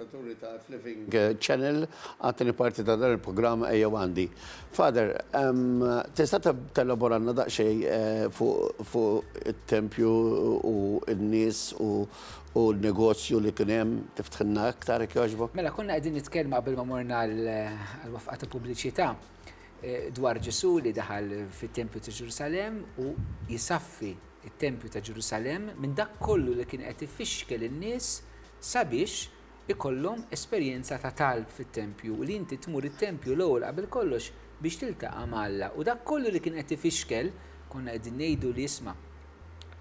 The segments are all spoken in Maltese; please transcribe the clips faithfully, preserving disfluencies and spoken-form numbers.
Telespettaturi ta' Living Channel, għat-tieni parti ta' dan il-programm Ejjew Għandi. Father, um, tista' telaboranna daqsxejn eh, fuq fuq it-tempju u n-nies u u l-negozju li kien hemm, tiftħilna aktar jekk jogħġbok? Mela, konna qegħdin nitkellmu qabel ma morna għal-waqfa ta' pubbliċità eh, dwar Ġesu li daħal fit-tempju ta' Ġerusalem u jisaffi it-tempju ta' Ġerusalem minn dak kollu li kien qed ifixkel in-nies sabiex ikollhom esperjenza ta' talb fit-tempju u li inti tmur it-tempju l-ewwel qabel kollox biex tiltaqa' ma' Alla. U dak kollu li kien qed ifixkel, konna qegħdin ngħidu li isma'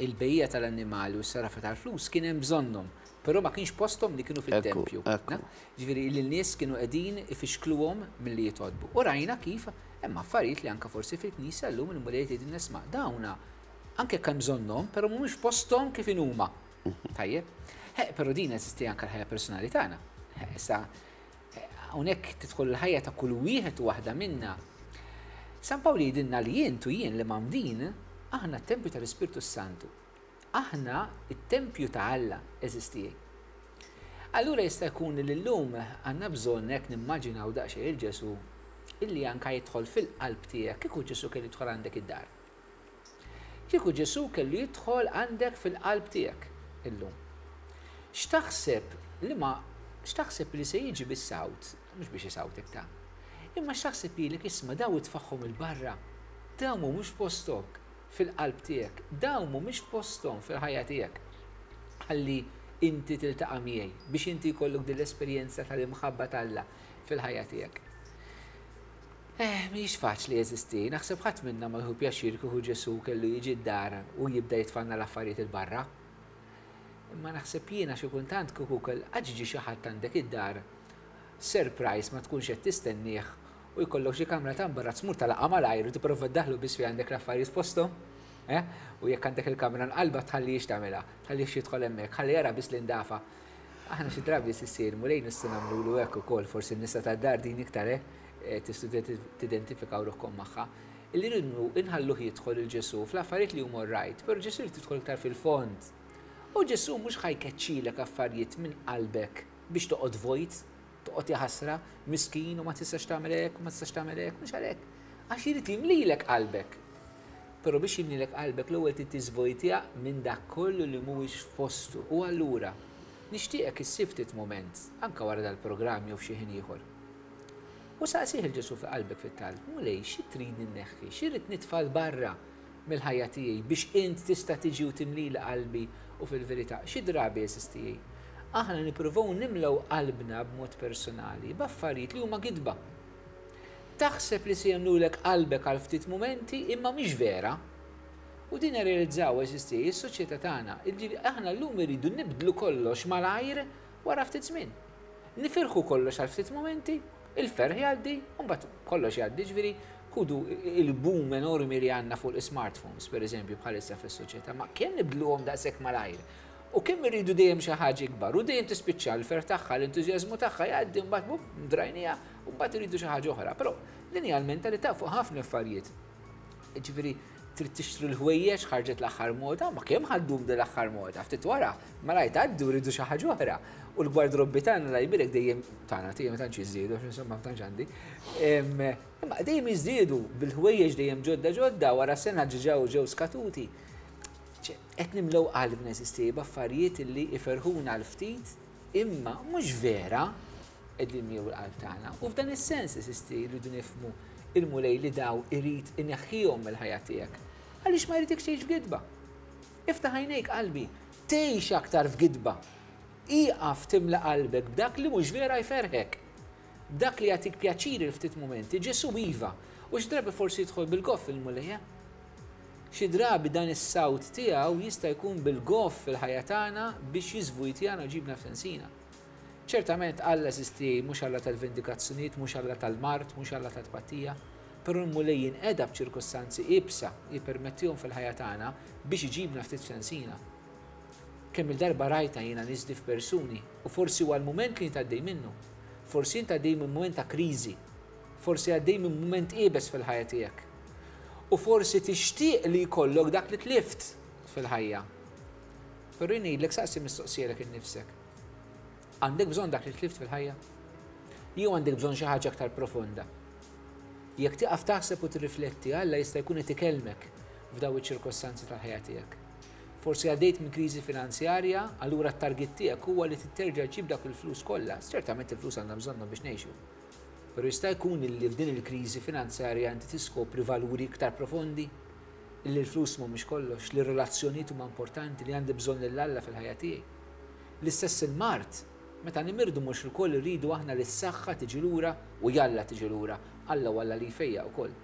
il-bejja tal-annimali u s-sarafa tal-flus kien hemm bżonnhom, però ma kienx posthom li kienu fit-tempju. Ekku. Ġifieri li n-nies kienu qegħdin ifixkluhom milli jitolbu. U rajna kif hemm affarijiet li anke forsi fil-knisja llum il-Mulej jgħidilna isma' dawna anke kemm bżonnhom, però mhumiex posthom kif inhuma. Tajjeb? Eh, però din eżisti anke l-ħajja personali tagħna. Issa hawnhekk tidħol il-ħajja ta' kull wieħed u waħda minna. San Pawl jgħidilna li jien u jien li mgħammdin, aħna t-tempju tal-Ispirtu Santu. Aħna t-tempju ta' Alla eżisti. Allura jista' jkun li llum għandna bżonn hekk nimmaġinaw daqsxejn il-Ġesu illi anka jidħol fil-qalb tiegħek kieku Ġesu kellu jidħol għandek id-dar. Kieku Ġesu kellu jidħol għandek fil-qalb tiegħek illum. X'taħseb li ma x'taħseb li se jiġi bis-sawt, mhux biex isawtek ta'. Imma x'taħseb li isma' daw itfaħħom il-barra, daw mhumiex postok fil-qalb tiegħek, daw mhumiex posthom fil-ħajja tiegħek. Ħalli inti tiltaqa' miegħi biex inti jkollok din l-esperjenza tal-imħabba t'Alla fil-ħajja tiegħek. Eh, mhijiex faċli jeżisti, naħseb ħadd minna ma jieħu pjaċir kieku Ġesu kellu jiġi d-dar u jibda jitfanna l-affarijiet il-barra. Imma naħseb jiena xi kultant kieku kell ġie xi ħadd għandek id-dar, surprise ma tkunx qed tistennieh u jkollok xi kamra ta' imbarazz mur talaqa malajr u tipprova ddaħlu biss fi għandek l-affarijiet f'posthom. Eh? U jekk għandek il-kamra nqalba tħallix tagħmilha, tħallix jidħol hemmhekk, ħalli jara biss l-indafa. Aħna xi drabi ssir Mulej nistgħu nagħmlulu hekk ukoll, forsi n-nisa tad-dar din iktar eh, tistgħu tidentifikaw ruħkom magħha. Illi rridu inħalluh jidħol il-Ġesu fl-affarijiet li huma right, però Ġesu jrid jidħol iktar fil-fond. U Ġesu mhux ħa jkeċċilek affarijiet minn qalbek biex toqgħod vojt, toqgħod jaħasra, miskin u ma tistax tagħmel hekk, u ma tistax tagħmel hekk, mhux għalhekk. Għax irid jimlilek qalbek. Però biex jimlilek qalbek l-ewwel trid tiżvojtja minn dak kollu li mhuwiex f'postu. U allura nixtieqek issib ftit mument anke wara dal-programm jew f'xi ħin ieħor. U saqsih il-Ġesu fi qalbek fit-talb, Mulej, xi trid inneħħi, xi rrid nitfa' 'l barra mill-ħajja tiegħi biex int tista' tiġi u timlili qalbi u fil-verità, xi drabi jeżisti. Aħna nippruvaw nimlew qalbna b'mod personali b'affarijiet li huma gidba. Taħseb li se jagħmlulek qalbek għal ftit mumenti imma mhix vera. U din realizzaw eżisti is-soċjetà tagħna. Jiġifieri aħna llum irridu nibdlu kollox malajr wara ftit żmien. Nifirħu kollox għal ftit mumenti, il-ferħ jgħaddi, u mbagħad kollox jgħaddi, ġifieri ħudu il-boom enormi li għandna fuq il-smartphones, per eżempju, bħalissa fis-soċjetà, ma kemm nibdluhom daqshekk malajr. U kemm irridu dejjem xi ħaġa ikbar, u dejjem tispiċċa l-ferħ tagħha, l-entużjażmu tagħha jgħaddi mbagħad bum, drajnija, u mbagħad iridu xi ħaġa oħra. Però din hija l-mentalità fuq ħafna affarijiet. Ġifieri trid tixtri l-ħwejjeġ ħarġet l-aħħar moda, ma kemm ħaddum din l-aħħar moda, ftit wara malajr tgħaddi u rridu xi ħaġa oħra. U l-gwardrobbi tagħna la jbirek dejjem tagħna tiegħi ma tantx jiżdiedu, għax insomma ma tantx għandi. Imma dejjem jiżdiedu bil-ħwejjeġ dejjem ġodda ġodda wara sena ġew ġew skatuti. Qed nimlew qalbna eżisti b'affarijiet li iferħuna l ftit imma mhux vera qegħdin jimlew il-qalb tagħna. U f'dan is-sens eżisti rridu nifhmu il-Mulej li daw irid ineħħihom mill-ħajja tiegħek. Għaliex ma jridekx tgħix f'gidba. Iftaħ għajnejk qalbi, tgħix aktar f'gidba. Ieqaf timla qalbek b'dak li mhux vera jferħek. B'dak li jagħtik pjaċir il ftit mumenti, Ġesu iva. U xi drabi forsi jidħol bil-goff il-Mulej. Xi drabi dan is-sawt tiegħu jista' jkun bil-goff fil-ħajja tagħna biex jiżvujtjana u ġibna f'sensina. Ċertament Alla eżisti mhux Alla tal-vendikazzjonijiet, mhux Alla tal-mard, mhux Alla tat-tpattija, però l-Mulej jinqeda b'ċirkustanzi iebsa jippermettihom fil-ħajja tagħna biex iġibna ftit f'sensina. Kemm il-darba rajta jiena niżdi f'persuni u forsi huwa l-mument li int għaddej minnu. Forsi int għaddej minn mument ta' kriżi, forsi għaddej minn mument iebes fil-ħajja tiegħek. U forsi tixtieq li jkollok dak li tlift fil-ħajja. Però jien ngħidlek saqsi mistoqsija lilek innifsek. Għandek bżonn dak li tlift fil-ħajja? Jew għandek bżonn xi ħaġa aktar profonda? Jekk tieqaf taħseb u tirrifletti, Alla jista' jkun qed ikellmek f'daw iċ-ċirkostanzi tal-ħajja tiegħek. Forsi għaddejt minn kriżi finanzjarja, allura t-target tiegħek huwa li terġa' ġġib dak il-flus kollha. Ċertament il-flus għandna bżonnhom biex ngħixu. Però jista' jkun li f'din il-kriżi finanzjarja inti tiskopri valuri iktar profondi, li l-flus mhumiex kollox, li r-relazzjonijiet huma importanti, li għandi bżonn lil Alla fil-ħajja tiegħi. L-istess il-mard, meta nimirdu mhux ilkoll irridu aħna li s-saħħa tiġi lura u jalla tiġi lura, Alla u Alla li jfejjaq ukoll.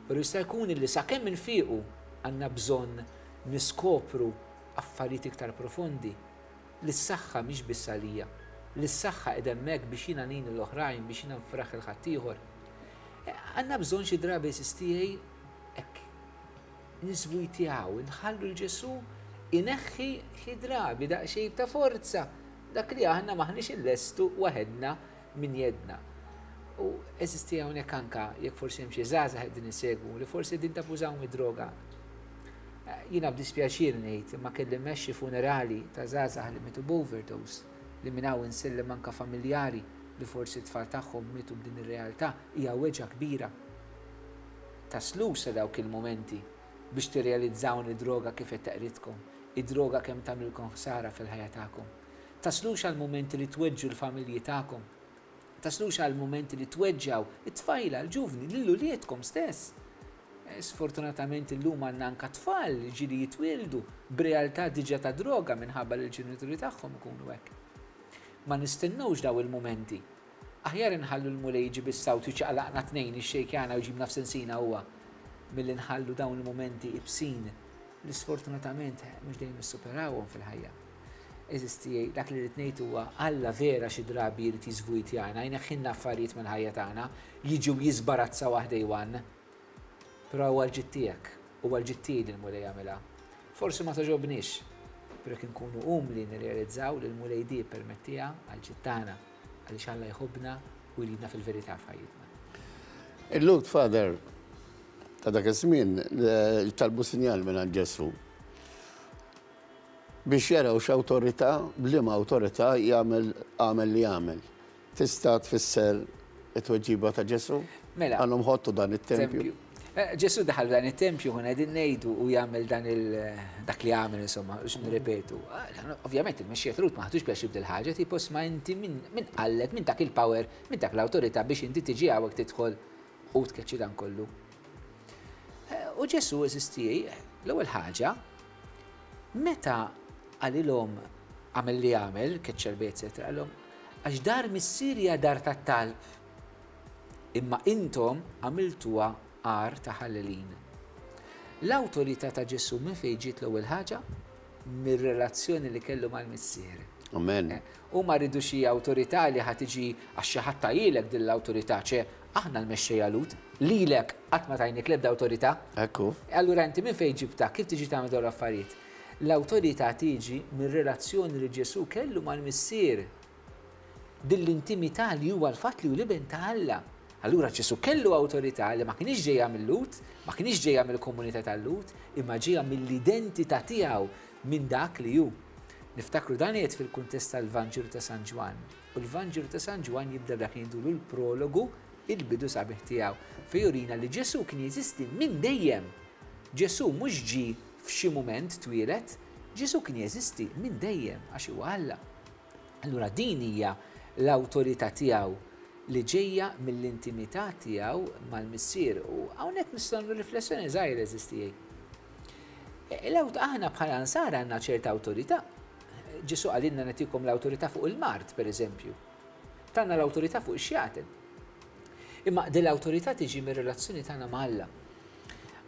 Però jista' jkun li sakemm infiqu għandna bżonn niskopru affarijiet iktar profondi, li s-saħħa mhix biss għalija, li s-saħħa qiegħda hemmhekk biex jiena ngħin l-oħrajn, biex jiena nfraħ lil ħaddieħor. Għandna bżonn xi drabi tiegħi hekk nisvujtjaw, nħallu l-Ġesù ineħħi xi drabi daqsxejn ta' forza dak li aħna maħniex illestu waħedna minn jedna. U eżisti hawnhekk anka jekk forsi hemm xi żgħażagħ qegħdin isegwu li forsi qegħdin tabbużaw mid-droga. Jiena b'dispjaċir ngħid imma kelli mmexxi funerali ta' żgħażagħ li mietu b'overdose, li minn hawn insellem anka familjari li forsi t-tfal tagħhom mietu b'din ir-realtà, hija weġgħa kbira. Taslux sa dawk il-momenti biex tirrealizzaw id-droga kif qed teqridkom, id-droga kemm tagħmilkom ħsara fil-ħajja tagħkom. Taslux għal momenti li tweġġu l-familji tagħkom. Taslux għal momenti li tweġġaw it-tfajla, l-ġuvni, lil uliedkom stess. Sfortunatament illum għandna anka tfal li ġieli jitwieldu b'realtà diġà ta' droga minħabba li l-ġenituri tagħhom ikunu hekk. Ma nistennewx daw il-momenti. Aħjar inħallu l-Mulej jiġi bis-sawt jiċaqlaqna tnejn ixxejkjana u jġibna f'sensina huwa milli nħallu dawn il-momenti ibsin li sfortunatament mhux dejjem nissuperawhom fil-ħajja. Eżisti, dak li rrid ngħid huwa Alla vera xi drabi jrid jiżvujtjana, jneħħilna affarijiet mill-ħajja tagħna, jiġu jiżbarazza waħdejwan. Però huwa l-ġid tiegħek, huwa l-ġid tiegħi li l-Mulej jagħmilha. Forsi ma togħġobniex, però jekk inkunu umli nirrealizzaw li l-Mulej di permettiha għall-ġid tagħna, għaliex Alla jħobbna u jridna fil-verità f'ħajjitna. Il-Lord Father ta' dak iż-żmien talbu sinjal minn Ġesù biex jaraw x'awtorità, b'liema awtorità jagħmel għamel li jagħmel. Tista' tfisser it-tweġiba ta' Ġesù? Mela. Għandhom ħottu dan it-tempju. Ġesù daħal dan it-tempju kun qegħdin ngħidu u jagħmel dan il dak li għamel insomma, biex nirrepetu. Ovvjament il-mexxija Lhud ma ħadux pjaċir b'dil ħaġa, tipo sma inti min qallek, min dak il-power, min dak l-awtorità biex inti tiġi hawnhekk tidħol u tkeċċi dan kollu. U Ġesù eżisti, l-ewwel ħaġa, meta qalilhom għamel li għamel, keċċa l-bejt, eccetera, qalilhom, għax dar mis-Sirja dar tat-talb, imma intom għamiltuha għar ta' ħallelin. L-awtorità ta' Ġesù minn fejn ġiet l-ewwel ħaġa? Mir-relazzjoni li kellu mal-Missier. Amen. U ma rridu xi awtorità li ħa tiġi għax xi ħadd tajilek din l-awtorità, ċe aħna l-mexxejja Lhud, lilek qatt ma tajnik l-ebda awtorità. Ekku. Allura inti minn fejn ġibta, kif tiġi tagħmel dawn l-affarijiet? L-awtorità tiġi mir-relazzjoni li Ġesù kellu mal-Missier. Din l-intimità li huwa l-fatt li hu l-iben ta' Alla. Allura Ġesù kellu awtorità li ma kienx ġejja mill-Lhud, ma kienx ġejja mill-komunità tal-Lhud, imma ġejja mill-identità tiegħu minn dak li hu. Niftakru dan qiegħed fil-kuntest tal-Vanġelu ta' San Ġwann. U l-Vanġelu ta' San Ġwann jibda dak li jgħidulu l-prologu, il-bidu sabiħ tiegħu, fejn jurina li Ġesù kien jeżisti minn dejjem. Ġesù mhux ġie f'xi mument twieled, Ġesù kien jeżisti minn dejjem għax huwa Alla. Allura din hija l-awtorità tiegħu li ġejja mill-intimità tiegħu mal-Missier. U hawnhekk nistgħu nagħmlu riflessjoni żgħira eżisti. Aħna bħala nsara għandna ċerta awtorità. Ġesù qalilna nagħtikom l-awtorità fuq il-mard, per eżempju. Tagħna l-awtorità fuq ix-xjaten. Imma din l-awtorità tiġi mir-relazzjoni tagħna ma' Alla.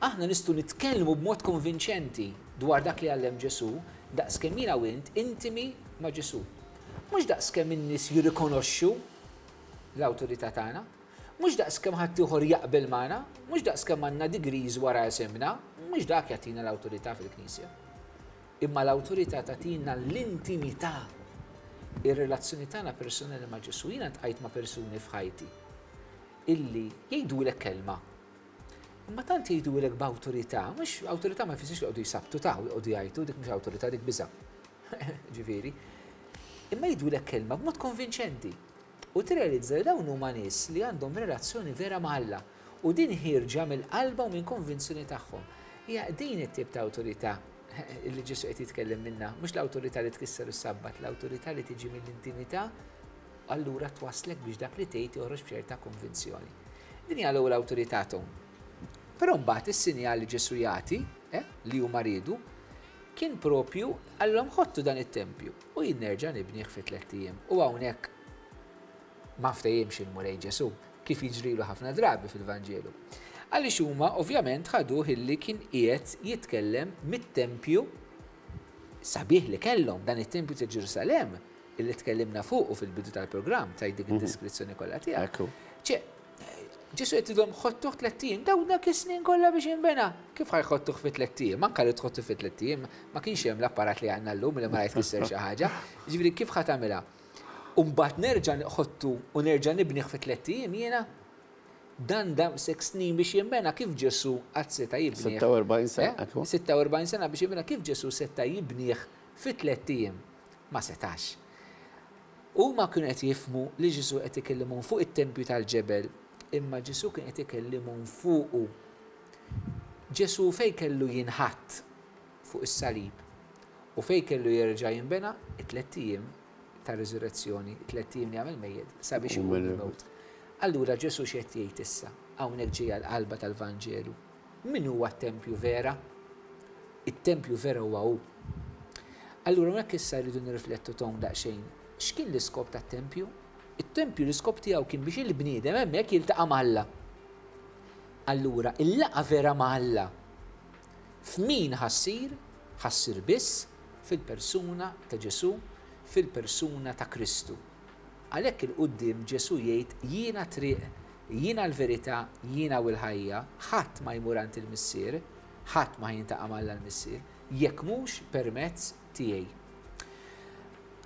Aħna nistgħu nitkellmu b'mod konvinċenti dwar dak li għallem Ġesù daqskemm jiena u int intimi ma' Ġesù. Mhux daqskemm in-nies jirrikonoxxu l-awtorità tagħna, mhux daqskemm ħaddieħor jaqbel magħna, mhux daqskemm għandna degrees wara isimna, mhux dak jagħtina l-awtorità fil-Knisja. Imma l-awtorità tagħtina l-intimità, ir-relazzjoni tagħna personali ma' Ġesù. Jiena ntqajt ma' persuni f'ħajti illi jgħidulek kelma. Imma tant jgħidulek b'awtorità, mhux awtorità ma jfissirx li jqogħdu jsabtu ta' u jqogħdu jgħidu, dik mhux awtorità, dik biża'. Ġifieri. Imma jgħidulek kelma b'mod konvinċenti. U tirrealizza li dawn huma nies li għandhom relazzjoni vera ma' Alla u din ħierġa mill-qalba u minn konvinzjoni tagħhom. Hija din it-tip ta' awtorità li Ġesu qed jitkellem minna, mhux l-awtorità li tkisser is-Sabbat, l-awtorità li tiġi mill-intimità, allura twaslek biex dak li tgħid joħroġ b'ċerta konvinzjoni. Din hija l-ewwel awtorità tagħhom. Però mbagħad is-sinjal li Ġesu jagħti, eh, li huma riedu, kien propju għallhom ħottu dan it-tempju u jien nerġa' nibnih fi tlett ijiem. U hawnhekk ma ftehimx il-Mulej Ġesu, kif jiġrilu ħafna drabi fil-Vanġelu. Għaliex huma ovvjament ħaduh illi kien qiegħed jitkellem mit-tempju sabiħ li kellhom, dan it-tempju ta' Ġerusalemm illi tkellimna fuq u fil-bidu tal-programm ta' dik id-deskrizzjoni kollha tiegħek. Ekku. Ċe, Ġesu qed jgħidilhom ħottuh tlett ijiem, dawn dak is-snin kollha biex jinbena. Kif ħa jħottuh fi tlett ijiem? Anke li tħottu fi tlett ijiem, ma kienx hemm l-apparat li għandna llum li ma jtkisser xi ħaġa. Ġifieri kif ħa tagħmilha? U mbagħad nerġa' nħottu u nerġa' nibnih fi tlett ijiem jiena? Dan dam sek snin biex jinbena, kif Ġesu qatt seta' jibnih? sitta u erbgħin sena, Eh? ekku. sitta u erbgħin sena biex jinbena, kif Ġesu seta' jibnih fi tlett ijiem? Ma setax. Huma kienu qed jifhmu li Ġesu qed ikellimhom fuq it-tempju tal-ġebel, imma Ġesu kien qed ikellimhom fuqu. Ġesu fej kellu jinħatt fuq is-salib u fej kellu jerġa' jinbena it-tlett ijiem ta' riżurrezzjoni, it-tlett ijiem li għamel mejjed sabiex U iqum mill- mill-mewt. Allura Ġesu x'qed jgħid issa? Hawnhekk ġejja l-qalba tal-Vanġelu. Min huwa t-tempju vera? It-tempju vera huwa hu. Allura hawnhekk issa rridu nirriflettu ton daqsxejn. X'kien l-iskop tat-tempju? It-tempju l-iskop tiegħu kien biex il-bniedem hemmhekk jiltaqa' ma' Alla. Allura, il-laqgħa vera ma' Alla f'min ħa ssir? Ħa ssir biss fil-persuna ta' Ġesu, fil-persuna ta' Kristu. Għalhekk 'il quddiem Ġesu jgħid: "Jiena triq, jiena l-verità, jiena u l-ħajja, ħadd ma jmur għand il-Missier, ħadd ma jiltaqa' ma' Alla l-Missier, jekk mhux permezz tiegħi."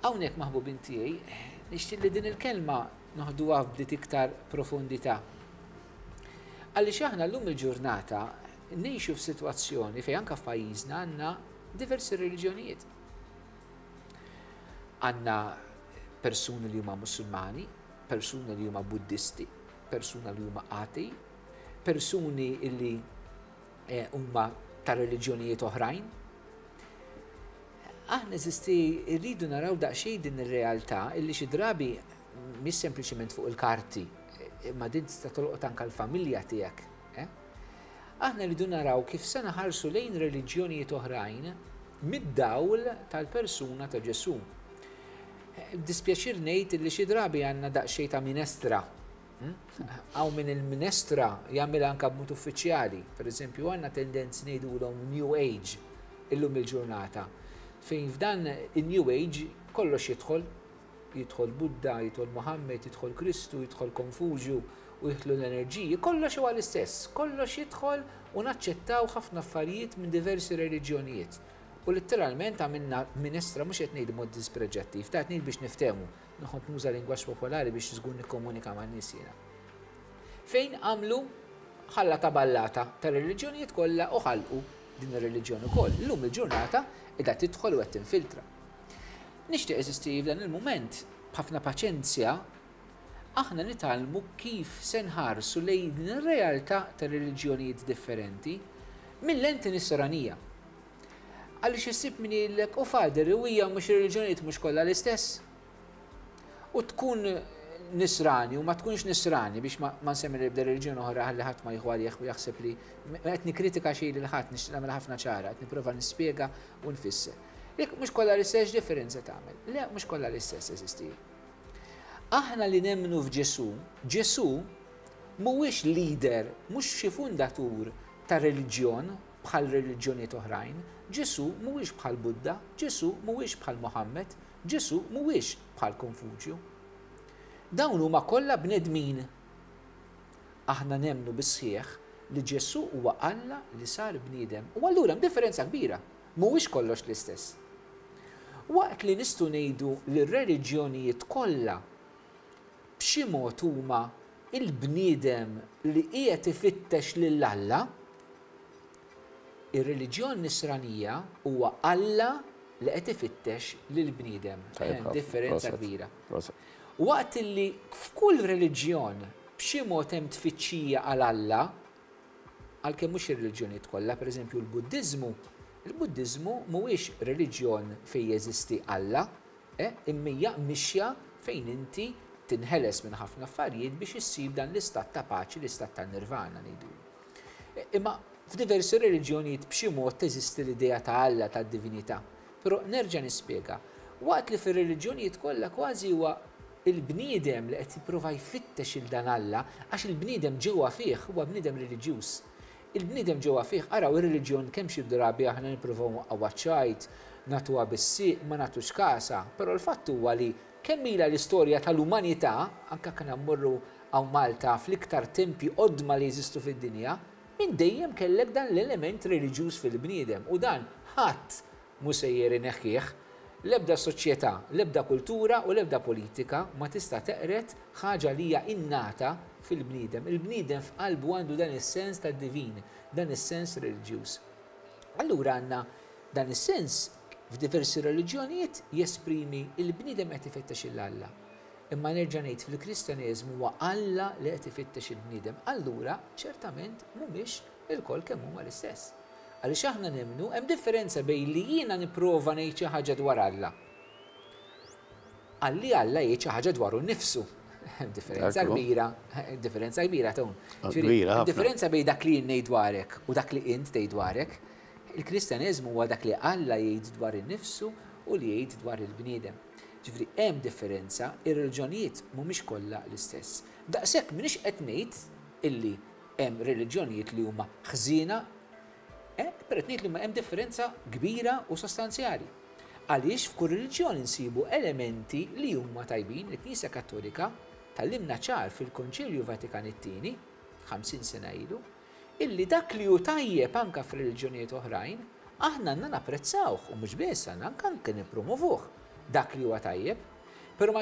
Hawnhekk, maħbubin tiegħi, nixtieq li din il-kelma noħduha b'dit iktar profondità. Għaliex aħna llum il-ġurnata ngħixu f'sitwazzjoni fejn anke f'pajjiżna għandna diversi reliġjonijiet. Għandna persuni li huma Musulmani, persuni li huma Buddisti, persuni li huma atei, persuni li eh, huma ta' reliġjonijiet oħrajn. Aħna eżisti rridu naraw daqsxejn din ir-realtà illi xi drabi mhix sempliċement fuq il-karti, imma din tista' tolqot anke l-familja tiegħek. Eh? Aħna rridu naraw kif se naħarsu lejn reliġjonijiet oħrajn mid-dawl tal-persuna ta' Ġesu. Dispjaċir ngħid li xi drabi għandna daqsxejn ta' minestra. Hawn min il-minestra jagħmilha anke b'mod uffiċjali. Per eżempju, għandna tendenzi ngħidulhom New Age illum il-ġurnata. Fejn f'dan il-New Age kollox jidħol, jidħol Buddha, jidħol Muhammed, jidħol Kristu, jidħol Konfuġju u jidħlu l-enerġiji, kollox huwa l-istess, kollox jidħol u naċċettaw ħafna affarijiet minn diversi reliġjonijiet. U letteralment għamilna minestra, mhux qed ngħid mod dispreġjattiv, ta' ngħid biex niftehmu, nħobb nuża lingwaġġ popolari biex żgur nikkomunika man-nies jiena. Fejn għamlu ħalla ta' ballata ta' reliġjonijiet kollha u ħalqu din ir-reliġjoni ukoll. Illum il-ġurnata qiegħda tidħol u qed tinfiltra. Nixtieq, eżisti, f'dan il-mument b'ħafna paċenzja aħna nitgħallmu kif se nħarsu lejn din ir-realtà ta' reliġjonijiet differenti mill-lenti nisranija. Għaliex issib min jgħidlek: "U Father, u hija mhux reliġjonijiet mhux kollha l-istess?" U tkun nisrani u ma tkunx nisrani, biex ma ma nsemmi l-ebda reliġjoni oħra ħalli ħadd ma jieħu għalih u jaħseb li qed nikkritika xejn lil ħadd, nixtieq nagħmel ħafna ċara, qed nipprova nispjega u nfisser. Jekk mhux kollha l-istess, differenza tagħmel? Le, mhux kollha l-istess, eżisti. Aħna li nemmnu f'Ġesu, Ġesu mhuwiex leader, mhux xi fundatur ta' reliġjon bħal reliġjonijiet oħrajn. Ġesu mhuwiex bħal Buddha, Ġesu mhuwiex bħal Muhammed, Ġesu mhuwiex bħal Konfuġju. Dawn huma kollha bnedmin. Aħna nemmnu bis-sħiħ li Ġesu huwa Alla li sar bniedem. U allura hemm differenza kbira. Mhuwiex kollox l-istess. Waqt li nistgħu ngħidu li r-reliġjonijiet kollha b'xi mod huma il-bniedem li qiegħed ifittex lil Alla, ir-reliġjon nisranija huwa Alla li qed ifittex lill-bniedem. Differenza kbira. Waqt li f'kull reliġjon b'xi mod hemm tfittxija għal Alla, għalkemm mhux ir-reliġjonijiet kollha, pereżempju l-Buddiżmu, il-Buddiżmu mhuwiex reliġjon fejn jeżisti Alla, imma hija mixja fejn inti tinħeles minn ħafna affarijiet biex issib dan l-istat ta' paċi, l-istat ta' nirvana ngħidu. Imma f'diversi reliġjonijiet b'xi mod teżisti l-idea ta' Alla, ta' divinità. Però nerġa' nispjega, waqt li fir-reliġjonijiet kollha kważi huwa il-bniedem li qed jipprova jfittex il dan Alla, għax il-bniedem ġewwa fih huwa bniedem reliġjuż. Il-bniedem ġewwa fih, araw ir-reliġjon kemm xi drabi aħna nippruvaw nwaqqgħu ċajt, nagħtuha bis-sieq, ma nagħtux kasa, però l-fatt huwa li kemm ilha l-istorja tal-umanità, anke kien mmorru hawn Malta fl-iktar tempi qodma li jeżistu fid-dinja, minn dejjem kellek dan l-element reliġjuż fil-bniedem u dan ħadd mhu sejjer ineħħih. L-ebda soċjetà, l-ebda kultura u l-ebda politika ma tista' teqret ħaġa li hija innata fil-bniedem. Il-bniedem f'qalbu għandu dan is-sens tad-divin, dan is-sens reliġjuż. Allura għandna dan is-sens f'diversi reliġjonijiet jesprimi il-bniedem qed ifittex il Alla. Imma nerġa' ngħid fil-Kristjaneżmu huwa Alla li qed ifittex il-bniedem. Allura ċertament mhumiex ilkoll kemm huma l-istess. Għaliex aħna nemmnu hemm differenza bejn li jiena nipprova ngħid xi ħaġa dwar Alla. Għalli Alla jgħid xi ħaġa dwaru nnifsu. Hemm differenza kbira, differenza kbira tun. Differenza bejn dak li jien ngħid dwarek u dak li int tgħid dwarek. Il-Kristjaneżmu huwa dak li Alla jgħid dwar innifsu u li jgħid dwar il-bniedem. Ġifieri hemm differenza, ir-reliġjonijiet mhumiex kollha l-istess. Daqshekk m'iniex qed ngħid illi hemm reliġjonijiet li huma ħżiena, però qed ngħid li hemm differenza kbira u sostanzjali. Għaliex f'kull reliġjon insibu elementi li huma tajbin. Il-Knisja Kattolika tallimna ċar fil-Konċilju Vatikan it-tieni, ħamsin sena ilu, illi dak li hu tajjeb anke f'reliġjonijiet oħrajn, aħna għandna napprezzawh u mhux biss għandna anke anke nippromovuh dak li huwa tajjeb. Però ma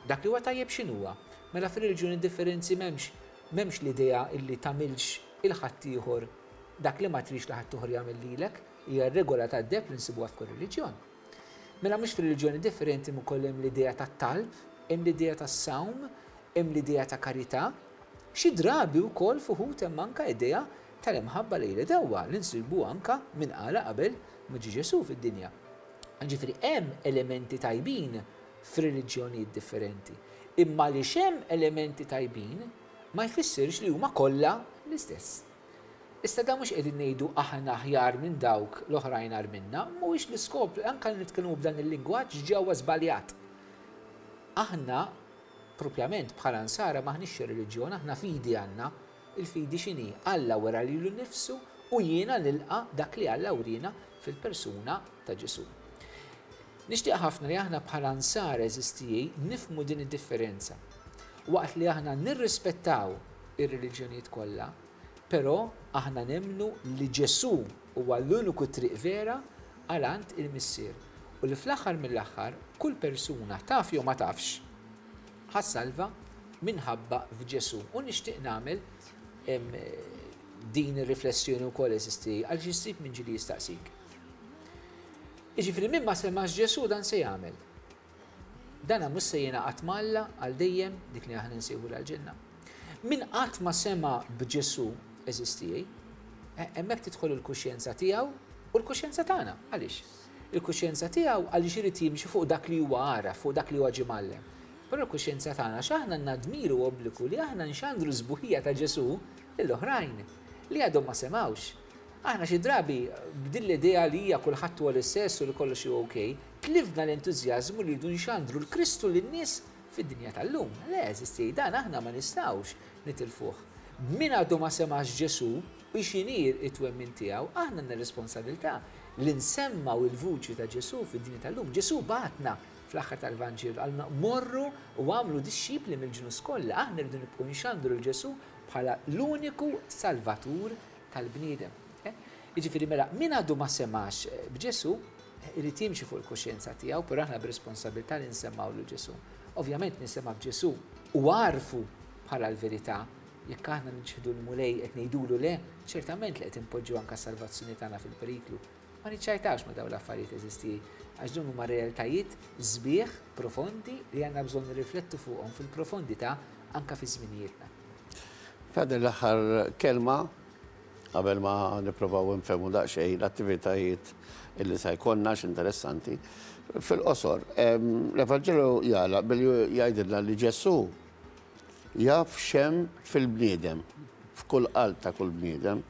dak li huwa tajjeb x'inhuwa? Mela fir-reliġjoni differenzi m'hemmx m'hemmx l-idea illi tagħmilx il-ħaddieħor dak li ma trix li ħadd jagħmel lilek, hija r-regola tad-deb li nsibuha f'kull reliġjon. Mela mhux fir-reliġjoni differenti ukoll hemm l-idea tat-talb, hemm l-idea tas-sawm, hemm l-idea ta' karità. Xi drabi wkoll fuħut hemm anke idea tal-imħabba lejn dewwa li nsibu anke minn qala qabel ma ġie Ġesù fid-dinja. Ġifieri hemm elementi tajbin f'reliġjonijiet differenti. Imma li hemm elementi tajbin ma jfissirx li huma kollha l-istess. Issa da mhux qegħdin ngħidu aħna aħjar minn dawk l-oħrajn agħar minna, mhuwiex l-iskop, anke li nitkellmu b'dan il-lingwaġġ ġewwa żbaljat. Aħna propjament bħala nsara m'aħniex reliġjon, aħna fidi għandna. Il-fidi x'inhi? Alla wera lilu nnifsu u jiena nilqa' dak li Alla wriena fil-persuna ta' Ġesù. Nixtieq ħafna li aħna bħala nsara eżistijej nifhmu din id-differenza. Waqt li aħna nirrispettaw ir-reliġjonijiet kollha, però aħna nemmnu li Ġesù huwa l-uniku triq vera għal għand il-Missier u li fl-aħħar mill-aħħar kull persuna taf jew ma tafx ħa ssalva minħabba f'Ġesù. U nixtieq nagħmel din ir-riflessjoni wkoll eżisti għal xi ssib minn ġili jistaqsik. Jiġifieri min ma semax Ġesù dan se jagħmel. Dan mhux se jingħaqad m'Alla għal dejjem dik li aħna nsejħu l-ġenna. Min qatt ma sema b'Ġesù eżistijej, hemmhekk tidħol il-kuxjenza tiegħu u l-kuxjenza tagħna. Għaliex? Il-kuxjenza tiegħu għaliex irid jimxi fuq dak li huwa għaraf, fuq dak li huwa ġie mgħallem. Però l-kuxjenza tagħna x'aħna għandna dmir u obbligu li aħna nxandru s-sbuħija ta' Ġesù lill-oħrajn li għadhom ma semgħux. Aħna xi drabi b'din l-idea li hija kulħadd huwa l-istess u li kollox huwa okej, tlifna l-entużjażmu li rridu nxandru l-Kristu lin-nies fid-dinja tal-lum. Le, eżisti, dan aħna ma nistgħux nitilfuh. Min għadu ma semax Ġesù u x'inhi it-twemmin tiegħu, aħna għandna responsabilità li nsemmaw il-vuċi ta' Ġesù fid-dinja tal-lum. Ġesù bagħatna fl-aħħar tal-Vanġelu għalna morru u għamlu dixxipli mill-ġnus kollha. Aħna rridu nibqgħu nxandru lil Ġesù bħala l-uniku salvatur tal-bniedem. Jiġifieri mela min għadu ma semax b'Ġesù irid jimxi fuq il-kuxjenza tiegħu, però aħna b'responsabilità li nsemmaw lil Ġesù. Ovvjament nisema' b'Ġesù u għarfu bħala l-verità. Jekk aħna nġħdu l-Mulej qed ngħidulu le, ċertament li qed inpoġġu anke s-salvazzjoni tagħna fil-periklu. Ma niċċajtawx ma' dawn l-affarijiet, għeżież tiegħi, għax dawn huma realtajiet sbieħ profondi li għandna bżonn nirriflettu fuqhom fil-profondità anka fi żminijietna. Father, l-aħħar kelma qabel ma nipprovaw nfehmu daqsxejn l-attivitajiet illi se jkollna interessanti. Fil-qosor, l-Evanġelu jagħlaq billi jgħidilna li Ġesù jaf x'hemm fil-bniedem, f'kull qalb ta' kull bniedem.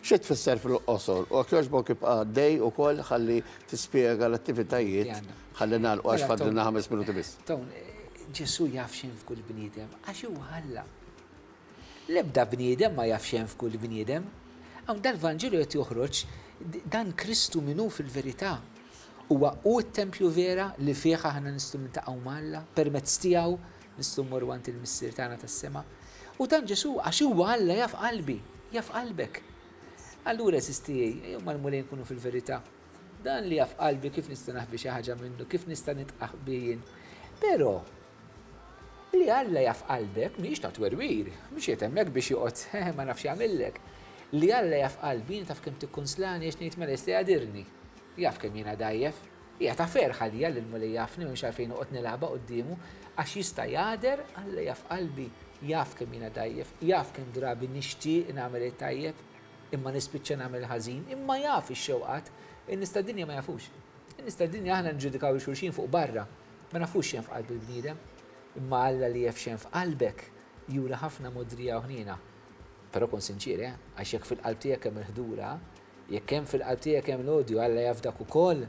Xi tfisser fil-qosor? U jogħġbok ibqa' għaddej ukoll ħalli tispjega l-attivitajiet ħalli nagħlqu għax fadlilna ħames minuti biss. Ton, Ġesù jaf x'hemm f'kull bniedem għax huwa Alla. L-ebda bniedem ma jaf x'hemm f'kull bniedem. Hawn dal-Vanġelu qed joħroġ dan Kristu min hu fil-verità. Huwa hu t-tempju vera li fih aħna nistgħu niltaqgħu ma' Alla, permezz tiegħu nistgħu mmorru għand il-Missier tagħna tas-sema. U dan Ġesù għax huwa Alla jaf qalbi, jaf qalbek. Allura għeżież tiegħi, ejjew mal-Mulej nkunu fil-verità. Dan li jaf qalbi kif nista' naħbi xi ħaġa minnu, kif nista' nitqaħbi jien. Però li Alla jaf qalbek mhijiex ta' twerwir, mhux qed hemmhekk biex joqgħod ma nafx jagħmillek. Li Alla jaf qalbi taf kemm tikkonslani għax ngħid mela jista' jagħdirni. Jaf kemm jiena dgħajjef. Hija ta' ferħ għalija li l-Mulej jafni mhux għalfejn noqgħod nilgħabha quddiemu għax jista' jagħder. Alla jaf qalbi, jaf kemm jiena dgħajjef, jaf kemm drabi nixtieq nagħmel it-tajjeb imma nispiċċa nagħmel ħażin, imma jaf ix-xewqat. In-nies tad-dinja ma jafux. In-nies tad-dinja aħna nġudikaw xulxin fuq barra, ma nafux x'hemm f'qalb il-bniedem. Imma Alla li jaf x'hemm f'qalbek jura ħafna mogħdrija u ħniena. Però kun sinċir, eh? Għax jekk fil-qalb tiegħek hemm il-ħdura, jekk hemm fil-qalb tiegħek hemm l-odju, Alla jaf dak ukoll.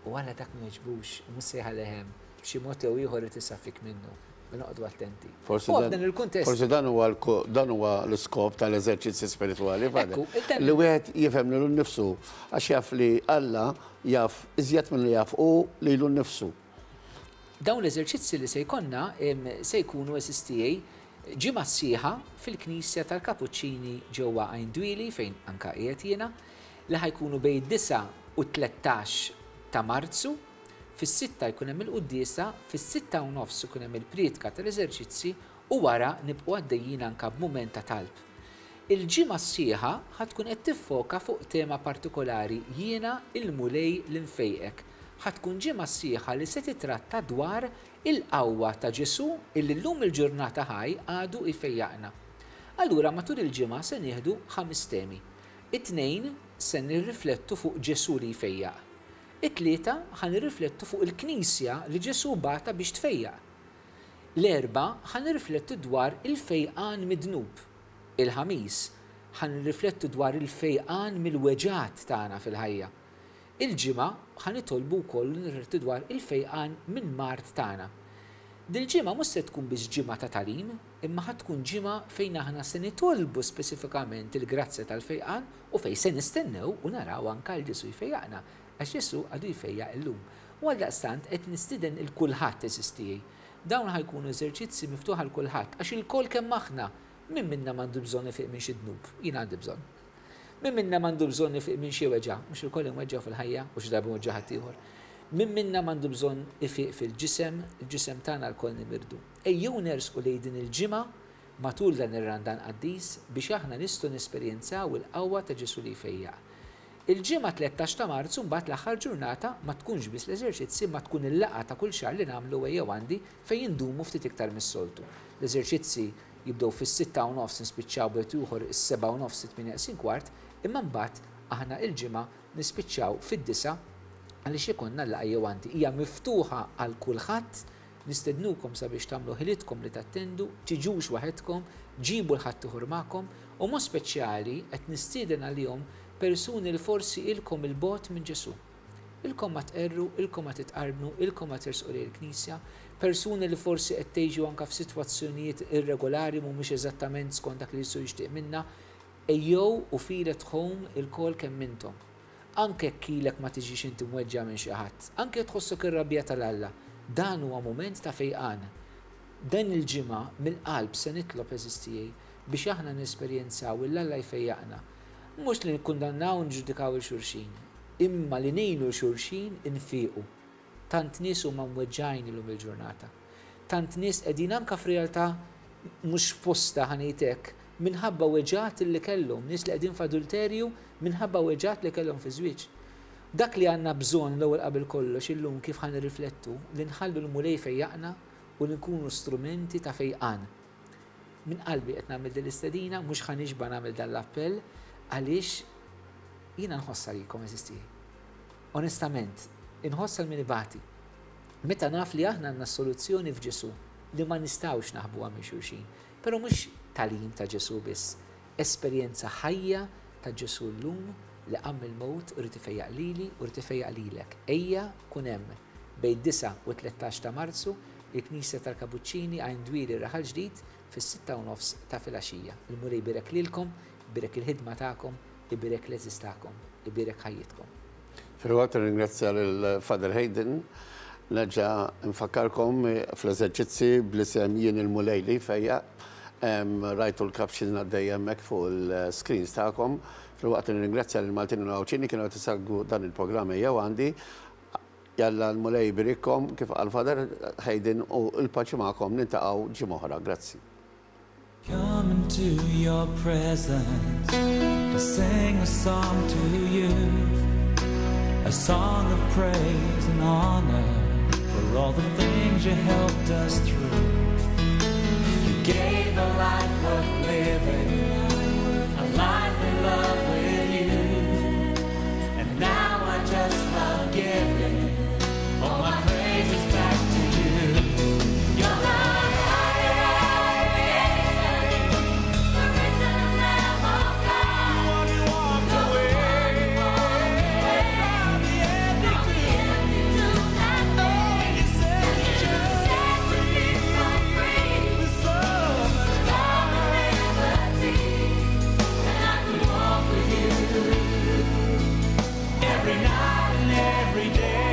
U Alla dak ma jogħġbux, mhux se jħalli hemm, b'xi mod jew ieħor irid isaffik minnu. Noqogħdu attenti. Forsi dan il-kuntest. Forsi dan huwa dan huwa l-iskop tal-eżerċizzi spiritwali, li wieħed jifhem lilu nnifsu għax jaf li Alla jaf iżjed milli jaf hu lilu nnifsu. Dawn l-eżerċizzi li se jkollna se jkunu, għeżież tiegħi, ġimgħa sħiħa fil-Knisja tal-Kapuċċini ġewwa Għajn Dwieli fejn anka qiegħed jiena, li ħa jkunu bejn disgħa u tlettax ta' Marzu. Fis-sitta jkun hemm il-quddiesa, fis-sitta u nofs ikun hemm il-prietka tal-eżerċizzi u wara nibqgħu għaddejjin anka b'mument ta' talb. Il-ġimgħa sħiħa ħa tkun qed tiffoka fuq tema partikolari, jiena il-Mulej li nfejqek. Ħa tkun ġimgħa sħiħa li se titratta dwar il-qawwa ta' Ġesù illi llum il-ġurnata ħaj għadu jfejjaqna. Allura matul il-ġimgħa se nieħdu ħames temi. It-tnejn se nirriflettu fuq Ġesù li jfejjaq. It-tlieta ħa nirriflettu fuq il-Knisja li Ġesù bagħatha biex tfejjaq. L-erba' ħa nirriflettu dwar il-fejqan mid-dnub. Il-ħamis ħa nirriflettu dwar il-fejqan mill-weġgħat tagħna fil-ħajja. Il-ġimgħa ħa nitolbu wkoll nirriflettu dwar il-fejqan minn mard tagħna. Dil-ġimgħa mhux se tkun biss ġimgħa ta' tagħlim, imma ħa tkun ġimgħa fejn aħna se nitolbu speċifikament il-grazzja tal-fejqan u fejn se nistennew u naraw anke l Ġesù jfejjaqna. Għax Ġesù għadu jfejjaq illum. U għaldaqstant qed nistieden il kulħadd, għeżież tiegħi. Dawn ħa jkunu eżerċizzi miftuħa għal kulħadd, għax ilkoll kemm aħna, min minna m'għandu bżonn ifiq minn xi dnub, jien għandi bżonn. Min minna m'għandu bżonn ifiq minn xi weġgħa, mhux ilkoll imweġġgħu fil-ħajja u xi darba mweġġa' ħaddieħor. Min minna m'għandu bżonn ifiq fil-ġisem, il-ġisem tagħna lkoll nimirdu. Ejjew nersqu lejn din il-ġimgħa matul dan ir-Randan qaddis biex aħna nistgħu nesperjenzaw il-qawwa ta' Ġesù li jfejjaq. Il-ġimgħa tlettax ta' Marzu mbagħad l-aħħar ġurnata ma tkunx biss l-eżerċizzi ma tkun il-laqgħa ta' kull xahar li nagħmlu ejjew għandi fejn indumu ftit iktar mis-soltu. L-eżerċizzi jibdew fis-sitta u nofs nispiċċaw bejt ieħor is-sebgħa u nofs it-tmienja neqsin kwart, imma mbagħad aħna il-ġimgħa nispiċċaw fid-disgħa għaliex ikollna l-laqgħa ejjew għandi. Hija miftuħa għal kulħadd, nistednukom sabiex tagħmlu ħilitkom li tattendu, tiġux waħedkom, ġibu l-ħadd ieħor magħkom u mod speċjali qed nistieden għalihom persuni li forsi ilkom il-bot minn Ġesù. Ilkom ma tqerru, ilkom ma titqarbnu, ilkom ma tersqu lejn il-Knisja, persuni li forsi qed tgħixu anke f'sitwazzjonijiet irregolari mhumiex eżattament skont dak li Ġesù jixtieq minna, ejjew u feel at home ilkoll kemm intom. Anke jekk ilek ma tiġix inti mweġġa' minn xi ħadd, anke tħossok ir-rabja tal-Alla, dan huwa mument ta' fejqan. Dan il-ġimgħa mill-qalb se nitlob, għeżież tiegħi, biex aħna nesperjenzaw il Alla jfejjaqna. Mhux li nikkundannaw u nġudikaw il xulxin, imma li ngħinu l xulxin infiqu. Tant nies huma mweġġgħin illum il-ġurnata. Tant nies qegħdin anke f'realtà mhux f'postha ħa ngħid hekk, minħabba weġgħat li kellhom, nies li qegħdin f'adulterju minħabba weġgħat li kellhom fi żwieġ. Dak li għandna bżonn l-ewwel qabel kollox illum kif ħa nirriflettu li nħallu l-Mulej fejjaqna u li nkunu strumenti ta' fejqan. Minn qalbi qed nagħmel din l-istedina, mhux ħa nixba' nagħmel dan l-appell għaliex jiena nħoss għalikom eżisti. Onestament, inħoss għal min ibati. Meta naf li aħna għandna soluzzjoni f'Ġesu li ma nistgħux naħbuha minn xulxin. Però mhux tagħlim ta' Ġesu biss, esperjenza ħajja ta' Ġesu llum li qam mill-mewt u jrid ifejjaq lili u jrid ifejjaq lilek. Ejja kun hemm bejn disgħa u tlettax ta' Marzu il-Knisja tal-Kapuċċini Għajn Dwieli Raħal Ġdid fis-sitta u nofs ta' filgħaxija. Il-Mulej ibierek lilkom, ibierek il-ħidma tagħkom, ibierek l-għeżież tagħkom, ibierek ħajjitkom. Filwaqt ringrazzja lil Father Hayden, nerġa' nfakkarkom fl-eżerċizzi bl-isem Jien il-Mulej li fejjaq. Rajtu l-caption għaddej hemmhekk fuq il-screens tagħkom. Filwaqt nirringrazzja lil Maltin u Għawdxin kienu qed isegwu dan il-programm Ejjew Għandi. Jalla l-Mulej ibierikkom kif qal Father Hayden u l-paċi magħkom niltaqgħu ġimgħa oħra. Grazzi. Come into your presence to sing a song to you, a song of praise and honor for all the things you helped us through. You gave a life worth living, a life in love with you, and now I just love giving all my praises back to you. You're the light of creation, the risen Lamb of God, The one who walked the away one who walked away from the empty from the tomb. empty tomb that day. You set And you set the people free. with so much Love and liberty, and I can walk with you every night and every day.